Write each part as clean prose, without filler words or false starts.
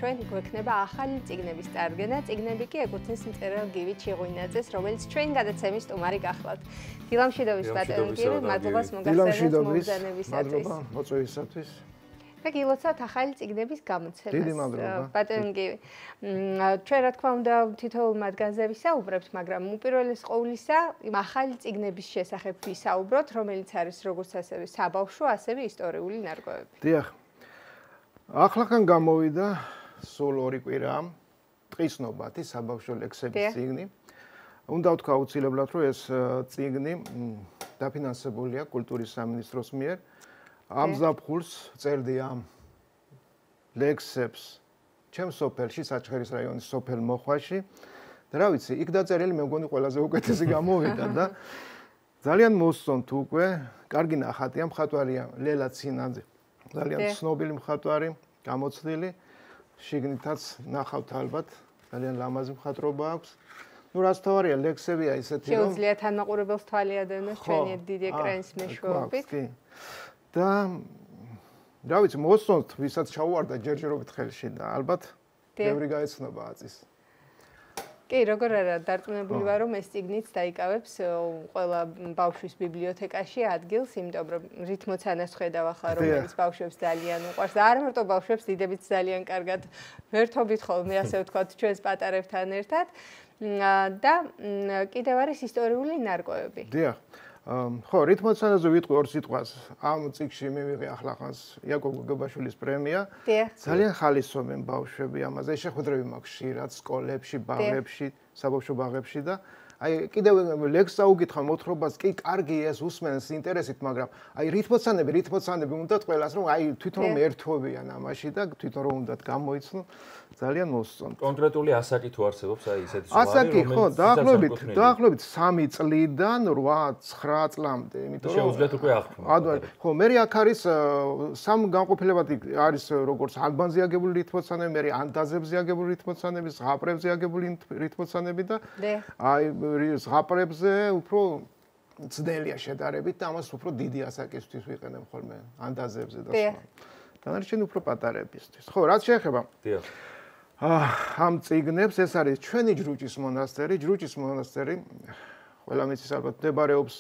ჩვენ გვექნება ახალი წიგნების წარდგენა. წიგნები კი ეკუთვნის მწერალ გივი ჩიღვინაძეს, რომელიც ჩვენ გადაცემის სტუმარი გახლავთ. დილამშვიდობის ბატონო გივი, მადლობას მოგახსენებთ მომბრძანებისათვის. მადლობა მოწვევისათვის. და გილოცავთ ახალი წიგნების გამოცემას. დიდი მადლობა. ბატონო გივი. ჩვენ რა თქმა უნდა თითოეულ მათგანზე ვისაუბრებთ, მაგრამ უპირველეს ყოვლისა იმ ახალი წიგნების შესახებ ვისაუბროთ, რომელიც არის როგორც ასევე საბავშვო, ასევე ისტორიული ნარკვევები. დიახ. ახლახან გამოვიდა სულ 2 კვირა ტყის ნობათი საბავშვო ლექსების წიგნი. უნდა ვთქვა აუცილებლად, რომ ეს წიგნი დაფინანსებულია კულტურის სამინისტროს მიერ. ამ ზაფხულს წერდი ამ ლექსებს ჩემს სოფელში, საჩხერის რაიონის სოფელ მოხვაში. და რა ვიცი, იქ დაწერილი მე მგონი ყველაზე უკეთესი გამოვიდა და ძალიან მოსწონთ უკვე. კარგი ნახატია, მხატვარია ლელა ცინაძე. ძალიან ცნობილი მხატვარი, გამოცდილი. შიგნითაც ნახავთ ალბათ, ძალიან ლამაზი მხატვრობა აქვს. ნუ რაც თავარია, ლექსებია ისეთი, რომ შეუძლიათ ანმაყურებელს თვალი ადევნოს ჩვენი დიდი ეკრანის მეშვეობით. და რა ვიცი, მოსწონთ, ვისაც ჩაუვარდა ჯერჯერობით ხელში და ალბათ ბევრი გაეცნობა აწის. კი, როგორ არა, დარწმუნებული ვარ, რომ ეს წიგნიც დაიკავებს ყველა ბავშვის ბიბლიოთეკაში ადგილს, იმიტომ რომ რითმოცანას ხედავ ახლა, რომელიც ბავშვებს ძალიან უყვარს და არა მარტო ბავშვებს, დიდებიც ძალიან კარგად ვერთობით ხოლმე, ასე ვთქვათ, ჩვენს პატარებთან ერთად. და კიდევ არის ისტორიული ნარკვევები. დიახ. ხო, რითმოცანაზე ვიტყვი 2 სიტყვას. ამ წიგნში მივიღე ახლახანს იაკობ გოგებაშვილის პრემია. ძალიან ხალისობენ ბავშვები ამაზე. შეხვედრები მაქვს ხშირად სკოლებში, ბაღებში, საბავშვო ბაღებში და აი კიდევ ლექსს აუკითხა მოთხრობას, კი, კარგი ეს უსმენს ინტერესით, მაგრამ აი რითმოცანები უნდათ ყველას, რომ აი თვითონ რომ ერთვებიან ამაში და თვითონ რომ უნდათ გამოიცნო, ძალიან მოსწონთ. კონკრეტული ასაკი თუ არსებობს, აი ესეთი ზღვარი, ასაკი, ხო, დაახლოებით 3 წლიდან 8-9 წლამდე, იმიტომ რომ შეუძლიათ უკვე აღქმათ. ხო, მე აქ არის 3 განყოფილებად არის როგორც ალბანზე აგებული რითმოცანები, მე ანდაზებზე აგებული რითმოცანები, ზღაპრებზე აგებული რითმოცანები და აი ზღაპრებზე უფრო ძნელია შედარებით და ამას უფრო დიდი ასაკისთვის ვიყენებ ხოლმე ანდაზებზე და სხვა. დანარჩენი უფრო პატარებისთვის. ხო, რაც შეეხება ამ წიგნებს, ეს არის ჩვენი ჯრუჭის მონასტერი. ჯრუჭის მონასტერი, ყველა მიცის ალბათ, მდებარეობს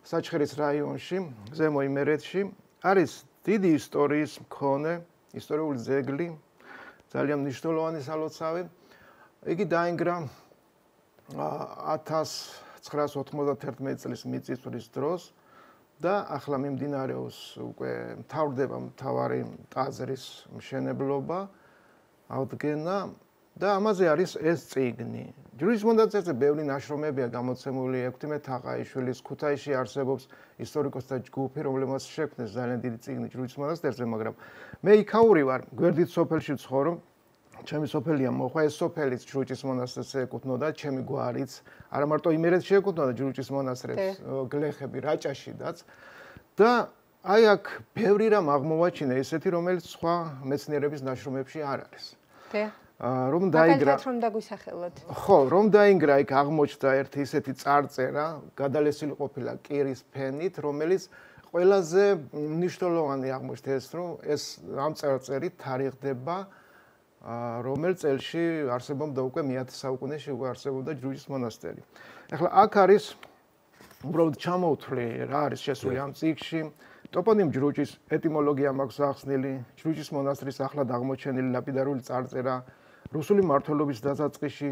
საჩხერის რაიონში, ზემო იმერეთში. არის დიდი ისტორიის მქონე, ისტორიული ძეგლი, ძალიან მნიშვნელოვანი სალოცავი. იგი დაინგრა 1991 წლის მიწისძვრის დროს და ახლა მიმდინარეობს უკვე მთავრდება მთავარი ტაძრის მშენებლობა, აღდგენა და ამაზე არის ეს წიგნი. ჯვრის მონასტერზე ბევრი ნაშრომებია გამოცემული, ექვთიმე თაყაიშვილის ქუთაისში არსებობს ისტორიკოსთა ჯგუფი, რომლებმაც შექმნეს ძალიან დიდი წიგნი ჯვრის მონასტერზე, მაგრამ მე იქაური ვარ, გვერდით სოფელში ვცხოვრობ. ჩემი სოფელია მოხვა, ეს სოფელიც ჯრუჭის მონასტერს ეკუთვნოდა, ჩემი გვარიც, არა მარტო იმერეთში ეკუთვნოდა ჯრუჭის მონასტერს, გლეხები რაჭაშიდაც და აი აქ ბევრი რამ აღმოვაჩინე ისეთი, რომელიც სხვა მეცნიერების ნაშრომებში არ არის. რომ დაიგრა რომ დაგვისახელოთ. ხო, რომ დაინგრა იქ აღმოჩნდა ერთი ისეთი წარწერა, გადალესილი ყოფილა კირის ფენით, რომელიც ყველაზე მნიშვნელოვანი აღმოჩნდა ეს, რომ ეს ამ წარწერით თარიღდება რომელ წელში არსებობდა უკვე მე-10 საუკუნეში უკვე არსებობდა ჯრუჭის მონასტერი. ახლა აქ არის უბრალოდ ჩამოვთვლი რა არის შესული ამ წიგნში. ტოპონიმ ჯრუჭის ეტიმოლოგია მაქვს ახსნილი, ჯრუჭის მონასტრის ახლად აღმოჩენილი ლაპიდარული წარწერა, რუსული მმართველობის დასაწყისში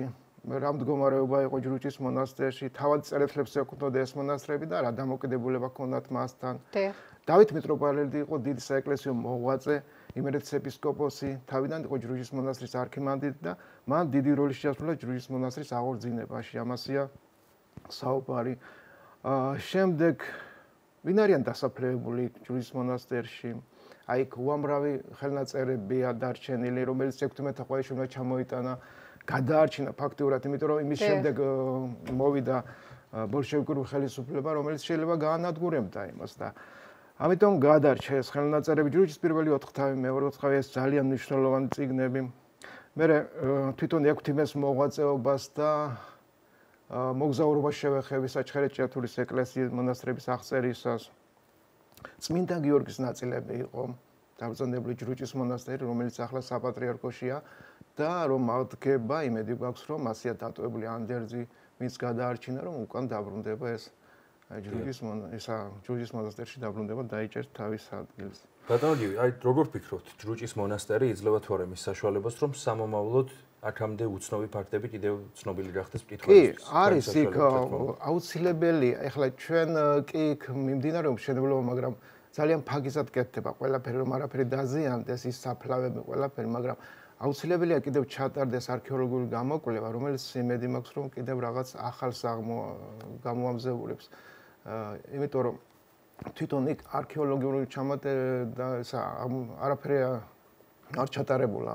რა მდგომარეობა იყო ჯრუჭის მონასტერში, თავად წერეთლებს ეკუთვნოდა ეს მონასტრები და რა დამოკიდებულება ჰქონდათ მასთან. დავით მიტროპოლიტი იყო დიდი საეკლესიო მოღვაწე, იმერეთის ეპისკოპოსი, თავიდან იყო ჯრუჭის მონასტრის არქიმანდრიტი და მან დიდი როლი შეასრულა ჯრუჭის მონასტრის აღორძინებაში. ამასია საუბარი. შემდეგ ვინ არიან დასაფლავებული ჯრუჭის მონასტერში? აი იქ უამრავი ხელნაწერებია დარჩენილი, რომელიც ექვთიმე თაყაიშვილმა ჩამოიტანა, გადაარჩინა ფაქტიურად, იმიტომ რომ იმის შემდეგ მოვიდა ბოლშევიკური ხელისუფლება, რომელიც შეიძლება გაანადგურებდა იმას და ამიტომ გადარჩა ეს ხელნაწერები ჯრუჭის პირველი 4 თავი, მეორე 4 თავი ეს ძალიან მნიშვნელოვანი წიგნები. მე თვითონ ექვთიმეს მოღვაწეობას და მოგზაურობას შევეხები საჩხერეთ ჭიათურის ეკლესიის მონასტრების აღწერისას. წმინდა გიორგის ნაწილები იყო დაბრძანებული ჯრუჭის მონასტერი, რომელიც ახლა საპატრიარქოშია და რომ აღდგება, იმედი გვაქვს, რომ მასია დატოვებული ანდერძი, მის გადაარჩინა, რომ უკან დაბრუნდება ეს ჯრუჭის მონასტერში დაბრუნდება, დაიჭერს თავის ადგილს. ბატონო გივი, აი როგორ ფიქრობთ, ჯრუჭის მონასტერი იძლევა თუ არა მის საშუალებას, რომ სამომავლოდ აქამდე უცნობი ფაქტები კიდევ ცნობილი გახდეს მკითხველისთვის? კი, არის იქ აუცილებელია. ეხლა ჩვენ კი იქ მიმდინარეობს მშენებლობა, მაგრამ ძალიან ფაგისად კეთდება ყველაფერი, რომ არაფერი დაზიანდეს, ის საფლავები ყველაფერი, მაგრამ აუცილებელია კიდევ ჩატარდეს არქეოლოგიური გამოკვლევა, რომელიც იმედი მაქვს, რომ კიდევ რაღაც ახალს გამოამზეურებს. იმიტომ რომ თვითონ იქ არქეოლოგიური ჩამატება არაფერი არ ჩატარებულა.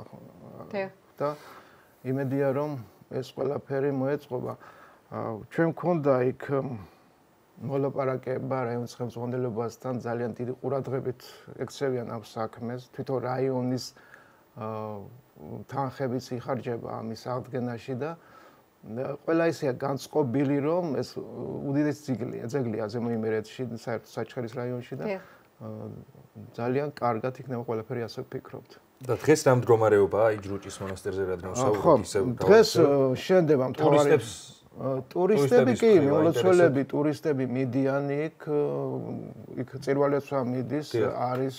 და იმედია რომ ეს ყველაფერი მოეწყობა. ჩვენ მქონდა იქ მოლაპარაკება რაიონის ხელმძღვანელობასთან, ძალიან დიდი ყურადღებით ექცევიან ამ საქმეს. თვითონ რაიონის თანხებიც იხარჯება ამის აღდგენაში და ყველა ისეა განწყობილი, რომ ეს უდიდესი ძეგლია ზემო იმერეთში, საერთოდ საჩხერის რაიონში და ძალიან კარგად იქნება ყველაფერი ასე ვფიქრობთ. და დღეს რა მდგომარეობაა აი ჯრუჭის მონასტერზე, რადგან ვსაუბრობთ ისევ დღეს შენდება მთავარი ტურისტები კი, მიმლოცველები, ტურისტები მიდიან იქ წირვალეცვა მიდის, არის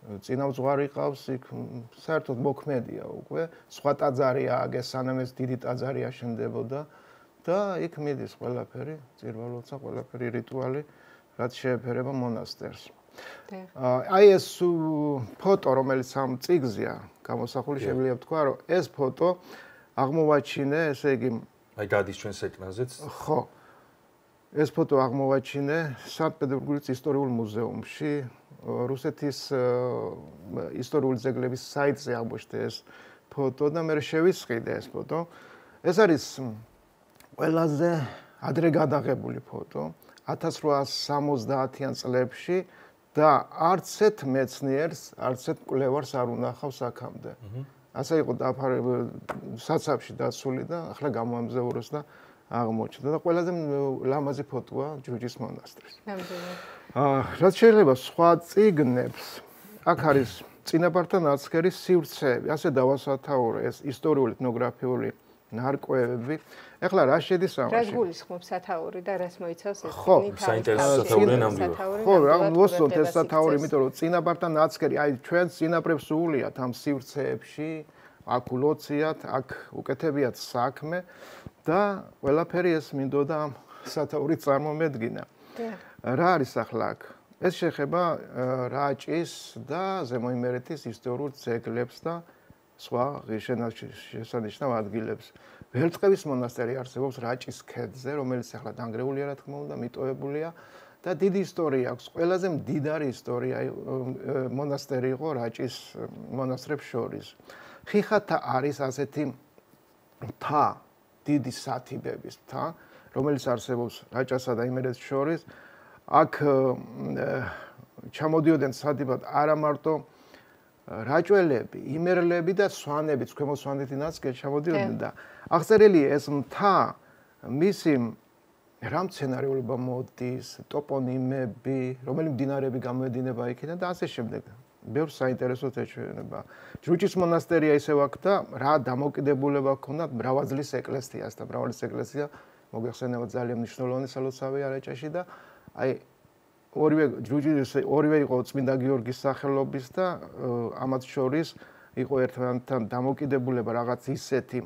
წინამძღვარი ყავს იქ, საერთოდ მოქმედია უკვე, სხვა ტაძარი ააგეს, სანამ ეს დიდი ტაძარი აშენდებოდა და იქ მიდის ყველაფერი, წირვალეცვა, ყველაფერი რიტუალი, რაც შეეფერება მონასტერს. აი ეს ფოტო, რომელიც ამ წიგზეა გამოსახული, შემიძლია ვთქვა, რომ ეს ფოტო აღმოვაჩინე, ესე იგი აი გადის ჩვენს ეკრანზეც. ხო. ეს ფოტო აღმოვაჩინე სანქტ-პეტერბურგის ისტორიულ მუზეუმში. რუსეთის ისტორიული ძეგლების საიტზე აღმოჩნდა ეს ფოტო და მე შევისყიდე ეს ფოტო. ეს არის ყველაზე ადრე გადაღებული ფოტო 1870-იან წლებში და არც ერთ მეცნიერს, არც ერთ კვლევარს არ უნახავს აქამდე. ასე იყო საცავში დაცული და ახლა გამოამზეურეს და აღმოჩნდა და ყველაზე ლამაზი ფოტოა ჯრუჭის მონასტრის. რაც შეიძლება სხვა წიგნებს, აქ არის წინაპართა ნაცქერის სივრცეები, ასე დავასათაურო ეს ისტორიული ეთნოგრაფიული ნარკვევები. ეხლა რა შედის ამაში? რას გულისხმობს სათაური და რას მოიცავს ეს წიგნი? ხო, საინტერესო სათაური ნამდვილად. ხო, რა მოსწონთ ეს სათაური, იმიტომ რომ წინაპართა ნაცქერი, აი ჩვენ წინაპრებს უულიათ ამ სივრცეებში, აქ ულოციათ, აქ უკეთებიათ საქმე და ყველაფერი ეს მინდოდა ამ სათაურით წარმომედგინა. რა არის ახლა აქ? ეს შეეხება რაჭის და ზემო იმერეთის ისტორიულ ძეგლებს და სხვა ღირსშესანიშნავ ადგილებს. ვერწყევის მონასტერი არსებობს რაჭის ქედზე, რომელიც ახლა დანგრეულია, რა თქმა უნდა, მიტოვებულია და დიდი ისტორია აქვს. ყველაზე მდიდარი ისტორია მონასტერი იყო რაჭის მონასტრებს შორის. ხიხათა არის ასეთი მთა, დიდი სათიბების მთა, რომელიც არსებობს რაჭასა და იმერეთს შორის. აქ ჩამოდიოდნენ სათიბად არა მარტო რაჭველები, იმერლები და სვანებიც, ქვემო სვანეთი ნაცგერ ჩამოდიოდნენ და აღწერილია ეს მთა, მისი რა მცენარეულობა მოდის, ტოპონიმები, რომელი მდინარეები გამოედინება იქიდან და ასე შემდეგ. ბევრ საინტერესოდ ეჩვენება. ჯრუჭის მონასტერია ისევ აქ და რა დამოკიდებულება ჰქონდა მრავალძლის ეკლესიას და მრავალძლის ეკლესია მოგეხსენება ძალიან მნიშვნელოვანი სალოცავია რაჭაში და აი ორივე იყო წმინდა გიორგის სახელობის და ამათ შორის იყო ერთმანეთთან დამოკიდებულება რაღაც ისეთი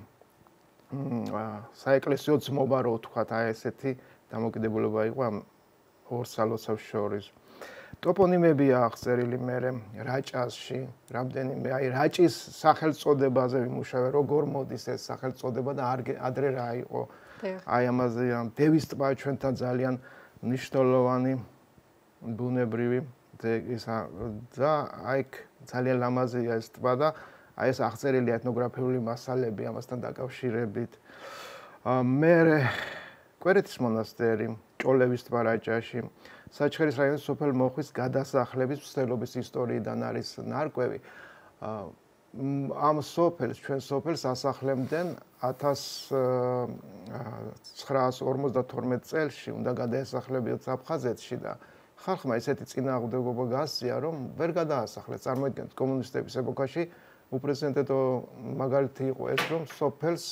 საეკლესიო ძმობა რო ვთქვათ, აი ესეთი დამოკიდებულება იყო ამ ორ სალოცავს შორის. ტოპონიმებია აღწერილი მერე რაჭასში, რამდენიმე აი რაჭის სახელწოდებაზე ვიმუშავე, როგორ მოდის ეს სახელწოდება და ადრე რა იყო. აი ამაზე დევის ტბა ჩვენთან ძალიან მნიშვნელოვანი ბუნებრივი და აი ძალიან ლამაზია ეს ტბა და აი ეს აღწერილია ეთნოგრაფიული მასალები ამასთან დაკავშირებით. მერე კვერეთის მონასტერი, ჭოლევის ტბა რაჭაში, საჩხერის რაიონის სოფელ მოხვის გადასახლების მსვლელობის ისტორიიდან არის ნარკვევი. ამ სოფელს, ჩვენ სოფელს ასახლებდნენ 1952 წელში, უნდა გადაესახლებიოთ აფხაზეთში და ხალხმა ესეთი წინააღმდეგობა გასწია, რომ ვერ გადაასახლეს. წარმოიდგინეთ, კომუნისტების ეპოქაში უპრეცედენტო მაგალითი იყო ეს, რომ სოფელს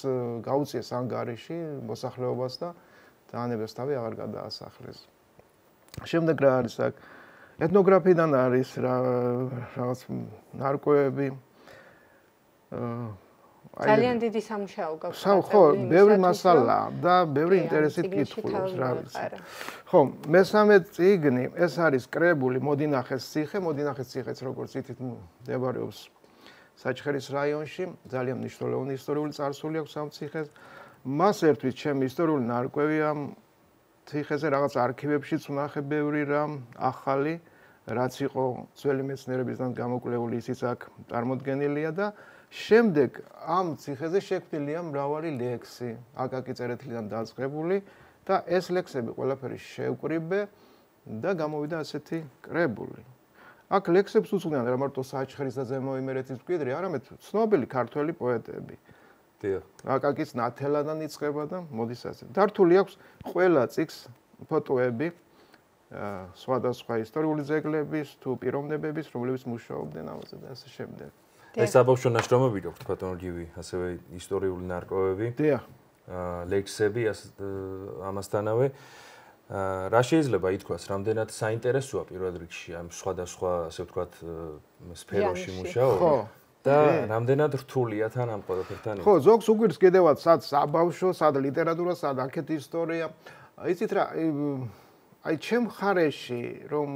გაუწიეს ანგარიში მოსახლეობას და დაანებეს თავი აღარ გადაასახლეს. შემდეგ რა არის აქ? ეთნოგრაფიიდან არის რაღაც ნარკვევები. ძალიან დიდი სამუშაო გაქვს. ხო, ბევრი მასალა და ბევრი ინტერესით კითხულობს რა ვიცი. ხო, მესამე წიგნი, ეს არის კრებული მოდინახეს ციხე, მოდინახეს ციხეც როგორც ითით მდებარეობს საჩხერის რაიონში, ძალიან მნიშვნელოვანი ისტორიული წარსული აქვს ამ ციხეს. მას ერთვის ჩემი ისტორიული ნარკვევი ამ ციხეზე, რაღაც არქივებშიც ვნახე ბევრი რამ ახალი, რაც იყო ძველი მეცნიერებისგან გამოკვლეული, ისიც აქ წარმოდგენილია და შემდეგ ამ ციხეზე შექმნილია მრავალი ლექსი, აკაკი წერეთლიდან დაწყებული და ეს ლექსები ყველაფერი შევკრიბე და გამოვიდა ასეთი კრებული. აქ ლექსებს უწვდიან რა მარტო საჩხერის და ზემო იმერეთის მკვიდრი, არამედ ცნობილი ქართველი პოეტები. დიახ. აკაკის ნათელადან იწყება და მოდის ასე. დართული აქვს ყველა წიგნს ფოტოები სხვადასხვა ისტორიული ძეგლების თუ პიროვნებების, რომლებიც მუშაობდნენ ამაზე და ასე შემდეგ. ეს საბავშვო ნაშრომები გვაქვს ბატონო გივი, ასევე ისტორიული ნარკვევები. დიახ. ლექსები ამასთანავე. რა შეიძლება ითქვას, რამდენად საინტერესოა პირველ რიგში ამ სხვადასხვა, ასე ვთქვათ, სფეროში მუშაობა და რამდენად რთულია თან ამ ყველაფერთან? ხო, ზოგს უგვირს კიდევაც სად საბავშვო, სად ლიტერატურა, სად აქეთ ისტორია. იცით რა, აი ჩემ ხარეში რომ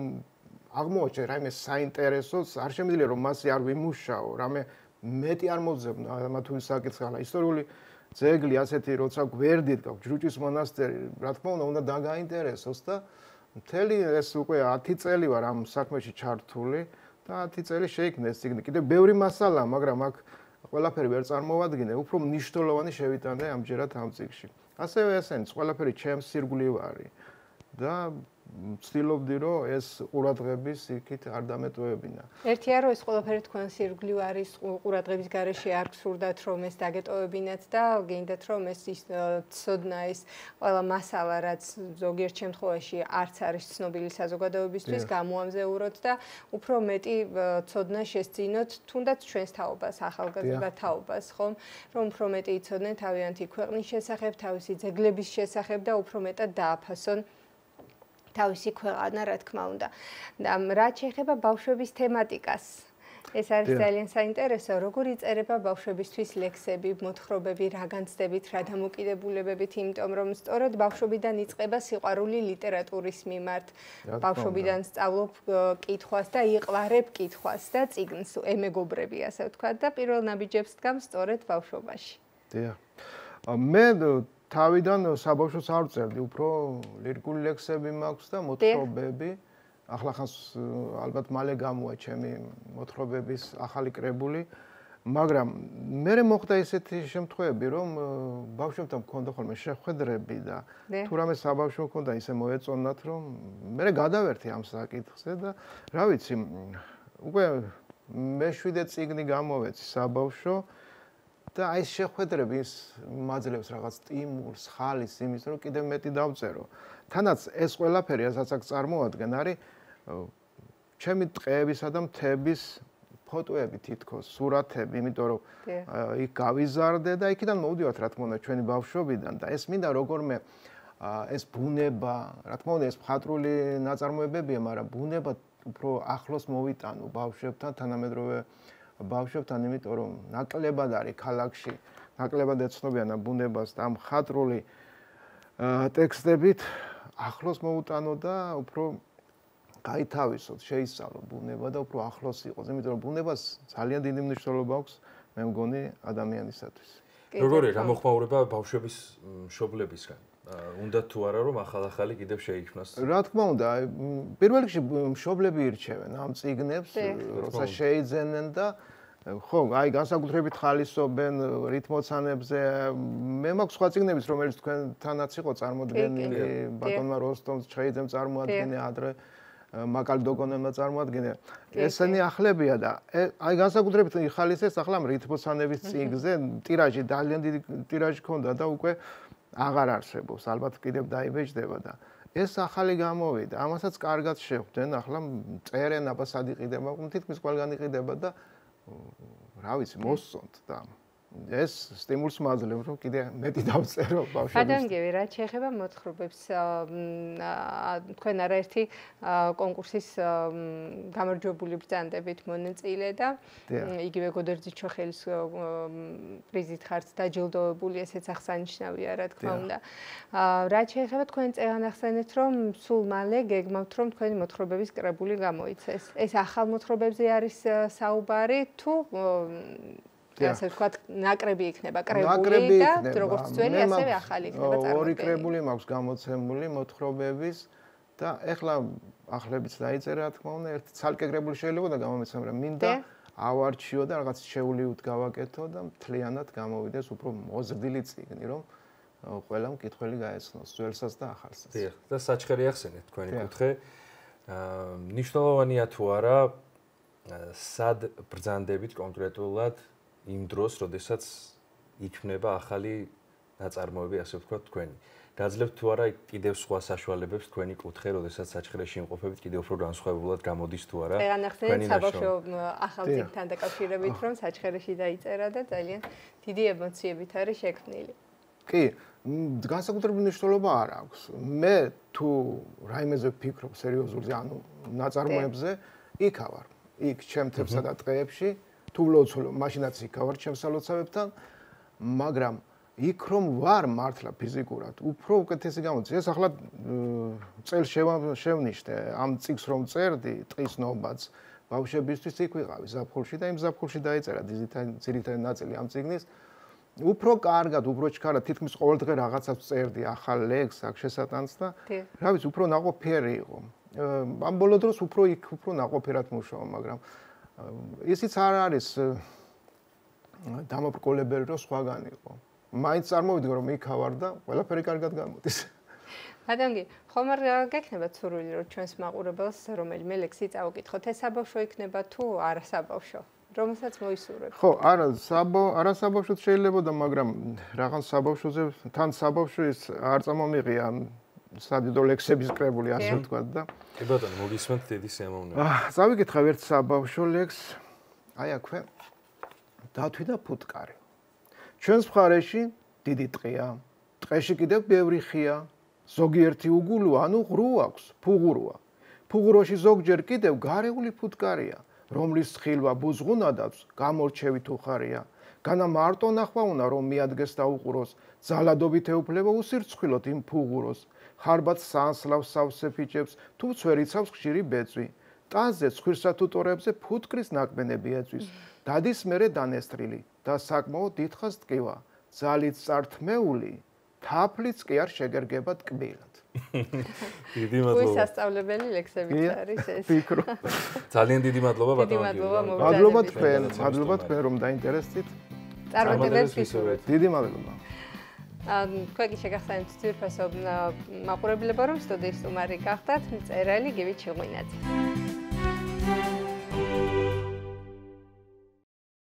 აღმოაჩენ რაიმე საინტერესოს, არ შემიძლია რომ მასზე არ ვიმუშაო, რამე მეტი არ მოძებნა ამა თუ საკითხალა. ისტორიული ძეგლი ასეთი როცა გვერდით გაქვს ჯრუჭის მონასტერი, რა თქმა უნდა დაგაინტერესოს და მთელი ეს უკვე 10 წელი ვარ ამ საქმეში ჩართული და 10 წელი შეიქმნა ეს ციგნი. კიდევ ბევრი მასალა, მაგრამ აქ ყველაფერი ვერ წარმოვადგინე, უფრო მნიშვნელოვანი შევიტანე ამჯერად ამ ციგში. ასევე ესენიც ყველაფერი ჩემს სირგვლივარი და ვცდილობდი რომ ეს ყურადღების იქით არ დამეტოვებინა. ერთია რომ ეს ყველაფერი თქვენ სირგლივ არის ყურადღების გარეშე არ გსურდათ რომ ეს დაგეტოვებინათ და გინდათ რომ ეს ცოდნა ეს ყველა მასალა რაც ზოგიერთ შემთხვევაში არც არის ცნობილი საზოგადოებისთვის გამოამზეუროთ და უფრო მეტი ცოდნა შესძინოთ თუნდაც ჩვენს თაობას, ახალგაზრდა თაობას, ხომ? რომ უფრო მეტი იცოდნენ თავიანთი ქვეყნის შესახებ, თავისი ძეგლების შესახებ და უფრო მეტად დააფასონ თავისი ქვეყანა, რა თქმა უნდა. და რაც შეეხება ბავშვების თემატიკას, ეს არის ძალიან საინტერესო, როგორ იწერება ბავშვებისთვის ლექსები, მოთხრობები, რა განცდებით, რა დამოკიდებულებებით, იმიტომ რომ სწორედ ბავშვობიდან იწყება სიყვარული ლიტერატურის მიმართ. ბავშვობიდან სწავლობ კითხვას და იყვარებ კითხვას და წიგნს ემეგობრები, ასე ვთქვათ, და პირველ ნაბიჯებს დგամ სწორედ ბავშვობაში. დიახ. მე თავიდან საბავშვოს არ ვწერდი, უფრო ლირიკული ლექსები მაქვს და მოთხრობები. ახლა ხანს ალბათ მალე გამოვა ჩემი მოთხრობების ახალი კრებული, მაგრამ მე მოხდა ესეთი შემთხვევები, რომ ბავშვებთან მქონდა ხოლმე შეხვედრები და თუ რამე საბავშვო მქონდა, ისე მოეწონათ, რომ მე გადავერთი ამ საკითხზე და რა ვიცი, უკვე მე-7 წიგნი გამოვეცი საბავშვო და აი ეს შეხვედრები მაძლევს რაღაც სტიმულს, ხალის იმის, რომ კიდევ მეტი დავწერო. თანაც ეს ყველაფერი, რასაც აქ წარმოადგენ, არის ჩემი ტყეებისა და მთების ფოტოები თითქოს, სურათები, იმიტომ რომ იქ გავიზარდე და იქიდან მოვდივართ, რა თქმა უნდა, ჩვენი ბავშვობიდან და ეს მინდა როგორმე ეს ბუნება, რა თქმა უნდა, ეს მხატვრული ნაწარმოებებია, მაგრამ ბუნება უფრო ახლოს მოვიტანო ბავშვებთან, თანამედროვე ბავშვებთან, იმიტომ რომ ნაკლებად არის ქალაქში, ნაკლებად ეცნობიან ამ ბუნებას და ამ მხატვრული ტექსტებით ახლოს მოუტანო და უფრო გაითავისოთ, შეისწავლო ბუნება და უფრო ახლოს იყოს, იმიტომ რომ ბუნებას ძალიან დიდი მნიშვნელობა აქვს, მე მგონი, ადამიანისათვის. როგორია გამოხმაურება ბავშვების მშობლებისგან? უნდა თუ არა რომ ახალ-ახალი კიდევ შეიქმნას? რა თქმა უნდა, პირველ რიგში მშობლები ირჩევენ ამ წიგნებს, როცა შეიძენენ და ხო, აი განსაკუთრებით ხალისობენ რითმოცანებზე. მე მაქვს სხვა წიგნებიც, რომელიც თქვენთანაც იყო წარმოდგენილი, ბატონმა როსტომს ჩხეიძემ წარმოადგინე, ადრე მაკალდოგონელმა წარმოადგინე. ესენი ახლებია და აი განსაკუთრებით ხალისეს ახლა რითმოცანების წიგნზე ტირაჟი ძალიან დიდი ტირაჟი ქონდა და უკვე აღარ არსებობს, ალბათ კიდევ დაიბეჭდება და ეს ახალი გამოვიდა. ამასაც კარგად შეხვდნენ. ახლა წერენ აბა სად იყიდება, თითქმის ყველგან იყიდება და რა ვიცი, მოსწონთ და ეს სტიმულს მაძლევ, რომ კიდე მეტი დავწერო ბავშვებს. გადანგები, რაც შეეხება მოთხრობებს, თქვენ არაერთი კონკურსის გამარჯვებული ბრძანდებით მონაწილე და იგივე გოდერძიჩოხელის პრიზით ხართ დაჯილდოვებული, ესეც აღსანიშნავია, რა თქმა უნდა. რაც შეეხება თქვენ წეგან ახსენეთ, რომ სულ მალე გეგმავთ, რომ თქვენი მოთხრობების კრებული გამოიცეს. ეს ახალ მოთხრობებზე არის საუბარი თუ ასე ვთქვათ, ნაკრები იქნება კრებული და როგორც ძველი, ასევე ახალი იქნება წარმოდგენილი. ორი კრებული მაქვს გამოცემული მოთხრობების და ეხლა ახლებიც დაიწერა, რა თქმა უნდა, ერთი ცალკე კრებული შეიძლება და გამომეცემ, რომ მინდა ავარჩიო და რაღაც შეულიოდ გავაკეთო და მთლიანად გამოვიდეს უფრო მოზრდილი წიგნი, რომ ყველა მკითხველი გაეცნოს, ძველსაც და ახალსაც. დიახ, და საჩხერი ახსენეთ თქვენი კუთხე. მნიშვნელოვანია თუ არა სად ბრძანდებით კონკრეტულად იმ დროს, როდესაც იქმნება ახალი ნაწარმოები, ასე ვთქვათ, თქვენი. გაძლევთ თუ არა კიდევ სხვა საშუალებებს თქვენი კუთხე, როდესაც საჩხერეში იმყოფებით, კიდევ უფრო განსხვავებულად გამოდის თუ არა. ეგან ახსენეთ საბავშვო ახალ წიგნთან დაკავშირებით, რომ საჩხერეში დაიწერა და ძალიან დიდი ემოციებით არის შექმნილი. კი, განსაკუთრებული მნიშვნელობა არ აქვს. მე თუ რაიმეზე ვფიქრობ სერიოზულზე, ანუ ნაწარმოებზე, იქ ავარ. იქ ჩემთებსა და ტყეებში თუ ვლოცულობ, მაშინაც იქ ავარ ჩემს სალოცავებთან, მაგრამ იქ რომ ვარ მართლა ფიზიკურად, უფრო უკეთესი გამოდის. ეს ახლა წელს შევნიშნე ამ წიგს რომ წერდი, ტყის ნომბაც ბავშვებისთვის იქ ვიყავი ზაფხულში და იმ ზაფხულში დაიწერა ძირითადი ნაწილი ამ წიგნის. უფრო კარგად, უფრო ჩქარად, თითქმის ყოველდღე რაღაცას წერდი, ახალ ლექსს, აქ შესატანს და რა ვიცი, უფრო ნაყოფიერი იყო. ამ ბოლო დროს უფრო ნაყოფიერად მუშაობ, მაგრამ ისიც არ არის დამობრკოლებელი, რომ სხვაგან იყო. მაინც წარმოვიდგა, რომ იქ ავარ და ყველაფერი კარგად გამოდის. ბატონი, ხომ არ გექნება ცურვილი, რომ ჩვენს მაყურებელს რომელიმე ლექსი წავუკითხოთ, ეს საბავშვო იქნება თუ არა საბავშვო? რომელსაც მოისურვებ. ხო, არა საბავშვოც შეიძლებოდა, მაგრამ რაღაც საბავშვოზე თან საბავშვის არ წამომიღია სადიდო ლექსების კრებული, ასე ვთქვათ და. კი ბატონო, მოგისმენთ დიდი სიამოვნება. წავიკითხავ ერთ საბავშვო ლექსს, აი აქვე. დათვი და ფუტკარი. ჩვენს მხარეში დიდი ტყეა, ტყეში კიდევ ბევრი ხეა, ზოგიერთი უგულო, ანუ ღრუ აქვს, ფუღუროა. ფუღუროში ზოგჯერ კიდევ გარეული ფუტკარია. რომლის ხილვა ბუზღუნადაც გამორჩევით უხარია. განა მარტო ნახვა უნდა რომ მიადგეს და უყუროს, ძალადობით ეუფლება უსირცხვილოდ იმ ფუღუროს. ხარბად სანსლავს სავსე ფიჭებს, თუ წვერიცავს ხშირი ბეწვი. ტანზე ცხვირსა თუ ტორებზე ფუტკრის ნაკბენები ეწვის. დადის მერე დანესტრილი და საკმაოდ დიდხანს ტკივა. ძალით წართმეული, თაფლიც კი არ შეგერგება ტკბილად. დიდი მადლობა. გასასწავლებელი ლექსებიც არის ეს. ვფიქრო. ძალიან დიდი მადლობა ბატონო. მადლობა თქვენ რომ დაინტერესდით. წარმატებებს ვისურვებთ. დიდი მადლობა. თქვენ კი შეგახსენებთ ძვირფასო მაყურებლებო, რომ სტუდიის სტუმარი გახდათ მწერალი გივი ჩიღვინაძე.